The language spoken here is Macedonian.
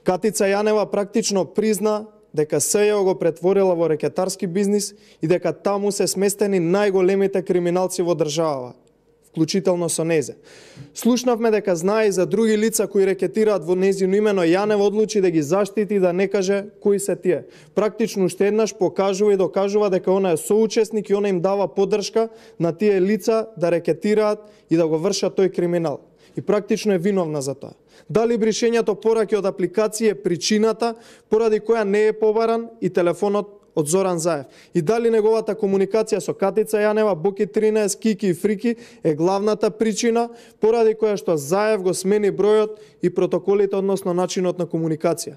Катица Јанева практично призна дека СЈО го претворила во рекетарски бизнис и дека таму се сместени најголемите криминалци во државава, вклучително со незе. Слушнавме дека знае и за други лица кои рекетираат во незино име, но Јанева одлучи да ги заштити и да не каже кои се тие. Практично уште еднаш покажува и докажува дека она е соучесник и она им дава поддршка на тие лица да рекетираат и да го вршат тој криминал. И практично е виновна за тоа. Дали бришењето пораки од апликација е причината поради која не е побаран и телефонот од Зоран Заев? И дали неговата комуникација со Катица Јанева, Боки 13, Кики и Фрики е главната причина поради која што Заев го смени бројот и протоколите односно начинот на комуникација?